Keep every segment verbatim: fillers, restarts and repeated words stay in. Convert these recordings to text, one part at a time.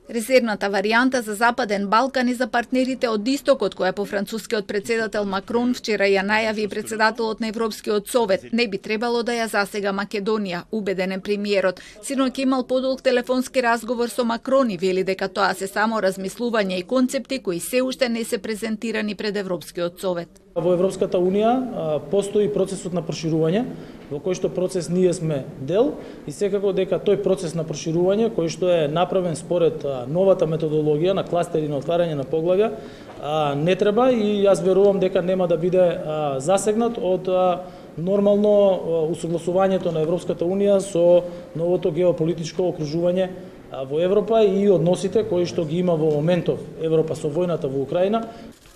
Резервната варијанта за Западен Балкан и за партнерите од Истокот, која по францускиот председател Макрон вчера ја најави председателот на Европскиот совет, не би требало да ја засега Македонија, убеден е премиерот. Синоќ имал подолг телефонски разговор со Макрон и вели дека тоа се само размислувања и концепти кои се уште не се презентирани пред Европскиот совет. Во Европската унија постои процесот на проширување, во кој што процес ние сме дел и секако дека тој процес на проширување, кој што е направен според новата методологија на кластери на отварање на поглавја, не треба и јас верувам дека нема да биде засегнат од нормално усогласувањето на Европската унија со новото геополитичко окружување во Европа и односите кои што ги има во моментов Европа со војната во Украина.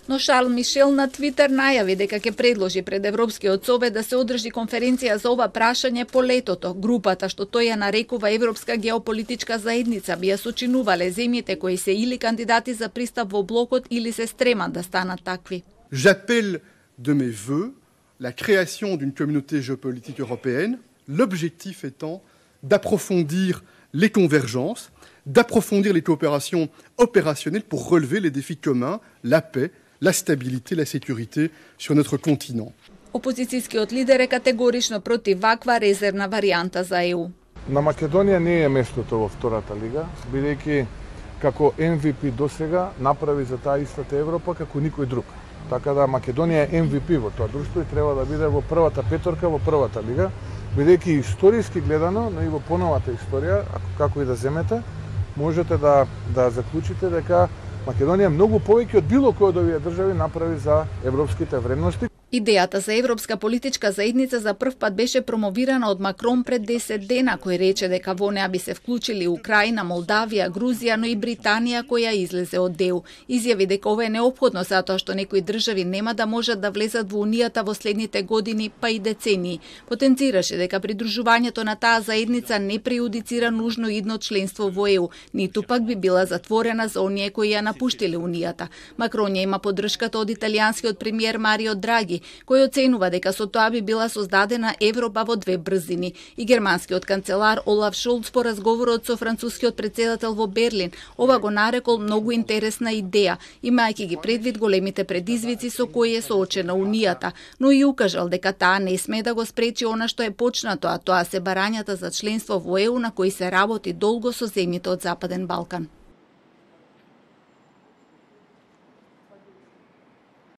Но Шарл Мишел на Твитер најави дека ќе предложи пред Европскиот совет да се одржи конференција за ова прашање по летото. Групата, што тој ја нарекува Европска геополитичка заедница, би ја сочинувале земјите кои се или кандидати за пристап во блокот или се стремат да станат такви. J'appelle de mes vœux la création d'une communauté géopolitique européenne, l'objectif étant d'approfondir les convergences, d'approfondir les coopérations opérationnelles pour relever les défis communs, la paix, la stabilité, la sécurité sur notre continent. Опозицијскиот лидер е категорично против ваква резервна варијанта за Е У. На Македонија не е местото во втората лига, бидејќи како Ем Ви Пи досега направи за таа истата Европа како никој друг. Така да Македонија е Ем Ви Пи во тоа друштво и треба да биде во првата петорка во првата лига, бидејќи историски гледано, но и во поновата историја, како и да земете, можете да да заклучите дека Македонија многу повеќе од било кој од овие држави направи за европските вредности. Идејата за Европска политичка заедница за прв пат беше промовирана од Макрон пред десет дена, кој рече дека во неа би се вклучили Украина, Молдавија, Грузија, но и Британија која излезе од Е У. Изјави дека ова е неопходно затоа што некои држави нема да можат да влезат во Унијата во следните години, па и децении. Потенцираше дека придружувањето на таа заедница не прејудицира нужно идно членство во Е У, ниту пак би била затворена за оние кои ја напуштиле Унијата. Макрон ја има поддршката од италијанскиот премиер Марио Драги, кој оценува дека со тоа би била создадена Европа во две брзини. И германскиот канцелар Олаф Шолц по разговорот со францускиот председател во Берлин ова го нарекол многу интересна идеја, имајќи ги предвид големите предизвици со кои е соочена Унијата, но и укажал дека таа не сме да го спречи она што е почнато, а тоа се барањата за членство во Е У на кои се работи долго со земјите од Западен Балкан.